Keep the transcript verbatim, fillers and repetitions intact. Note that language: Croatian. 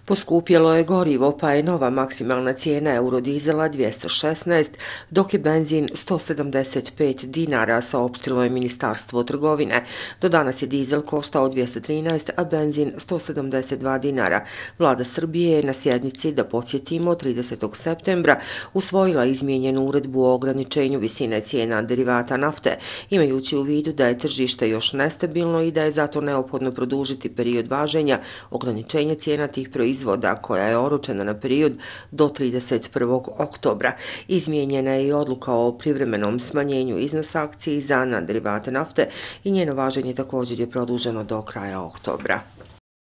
Poskupjelo je gorivo, pa je nova maksimalna cijena eurodizela dvjesto šesnaest, dok je benzin sto sedamdeset pet dinara, saopštilo je Ministarstvo trgovine. Do danas je dizel koštao dvjesto trinaest, a benzin sto sedamdeset dva dinara. Vlada Srbije je na sjednici, da podsjetimo, tridesetog septembra usvojila izmijenjenu uredbu o ograničenju visine cijena derivata nafte, imajući u vidu da je tržište još nestabilno i da je zato neophodno produžiti period važenja ograničenja cijena tih proizvoda izvoda koja je oročena na period do trideset prvog oktobra. Izmijenjena je i odluka o privremenom smanjenju iznosa akciza na derivate nafte i njeno važenje također je produženo do kraja oktobra.